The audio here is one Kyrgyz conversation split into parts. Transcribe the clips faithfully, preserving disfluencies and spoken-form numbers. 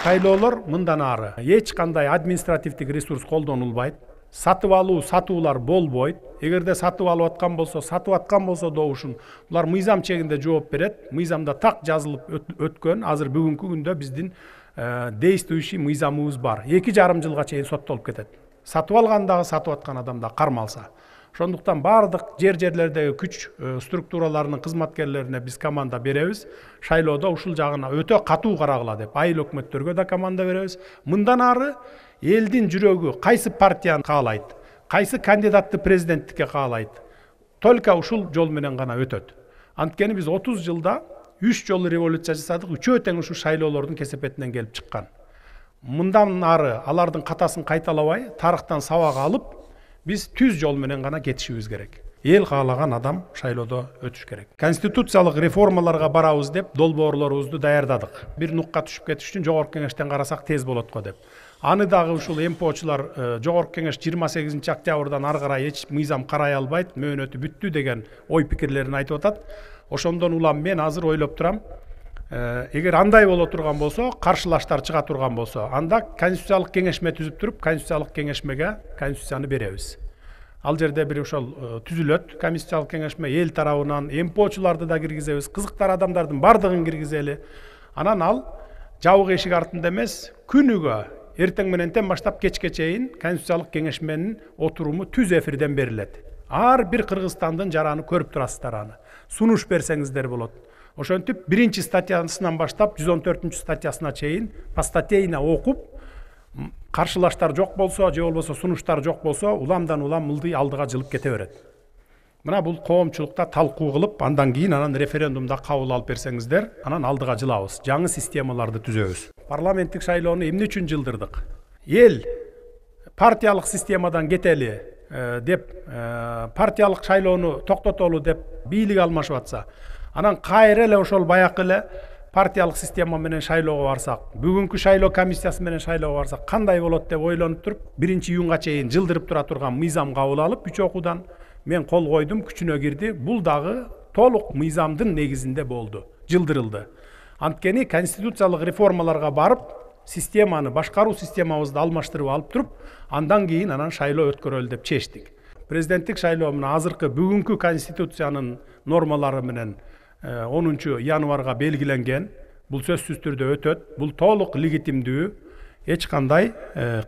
Шайлоолор мындан ары эч кандай административдик ресурс колдонулбайт. Сатып алуу, сатуулар болбойт. Эгерде сатып алып аткан болсо, сатып аткан болсо добушун булар мыйзам чегинде жооп берет. Мыйзамда так жазылып өткөн. Азыр бүгүнкү күндө биздин действующий мыйзамыбыз бар. эки жарым жылга чейин соттолуп кетет. Сатып алган дагы, сатып аткан адам да кармалса. Ошондуктан бардык жер-жерлердеги күч структураларынын кызматкерлерине биз команда беребиз. Шайлоодо ушул жагына өтө катуу карагыла деп айыл өкмөттөргө да команда беребиз. Мындан ары элдин жүрөгү кайсы партияны каалайт, кайсы кандидатты президенттикке каалайт, только ушул жол менен гана өтөт. Анткени биз отуз жылда үч жолу революция жасадык, үчөө тең ушу шайлоолордун кесепетинен келип чыккан. Мындан ары алардын катасын кайталабай, тарыхтан сабак алып, биз түз жол менен гана кетишибиз керек. Эл каалаган адам шайлоодо өтүш керек. Конституциялык реформаларга барабыз деп долбоорлорубузду даярдадык. Бир нукка түшүп кетиш үчүн жогорку кеңештен карасак тез болот го деп. Аны дагы ушул эмпочулар жогорку кеңеш жыйырма сегизинчи октябрдан ары карай эч мыйзам карай албайт, мөөнөтү бүттү деген ой пикирлерин айтып атат. Ошондон улам мен азыр ойлоп турам, эгер андай боло турган болсо, каршылаштар чыга турган болсо, анда конституциялык кеңешме түзүп туруп, конституциялык кеңешмеге конституцияны беребиз. Ал жерде бир ошол түзүлөт, конституциялык кеңешме эл тарабынан эмпочуларды да киргизебиз, кызыктар адамдардын бардыгын киргизели. Анан ал жабык эшик артында эмес, күнүгө эртең мененден баштап кечке чейин конституциялык кеңешменин отуруму түз эфирден берилет. Ар бир Кыргызстандын жараны көрүп турасыздар аны. Сунуш берсеңиздер болот. Ошентип биринчи статьясынан баштап жүз он төртүнчү статьясына чейин постатейно окуп, каршылаштар жок болсо, же болбосо сунуштар жок болсо, уламдан улам мылдый алдыга жылып кете берет. Мына бул коомчулукта талкуу кылып, андан кийин анан референдумда кабыл алып берсеңиздер, анан алдыга жылабыз, жаңы системаларды түзөбүз. Парламенттик шайлоону эмне үчүн жылдырдык? Эл партиялык системадан кетели деп, партиялык шайлоону токтотолу деп бийлик алмашып атса, анан кайра эле ошол баякы эле партиялык система менен шайлоого барсак, бүгүнкү шайлоо комиссиясы менен шайлоого барсак кандай болот деп ойлонуп туруп, биринчи июнга чейин жылдырып тура турган мыйзам кабыл алып, үч окуудан мен кол койдум, күчүнө кирди. Бул дагы толук мыйзамдын негизинде болду, жылдырылды. Анткени конституциялык реформаларга барып, системаны, башкаруу системабызды алмаштырып алып туруп, андан кийин анан шайлоо өткөрөлү деп чечтик. Президенттик шайлоо мына азыркы бүгүнкү конституциянын нормалары менен онунчу январга белгиленген. Бул сөзсүз түрдө өтөт. Бул толук легитимдүү, эч кандай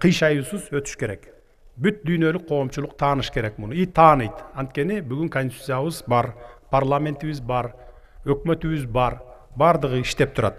кыйшаюусуз өтүш керек. Бүт дүйнөлүк коомчулук тааныш керек муну. И тааныйт. Анткени бүгүн конституциябыз бар, парламентибиз бар, өкмөтүбүз бар, бардыгы иштеп турат.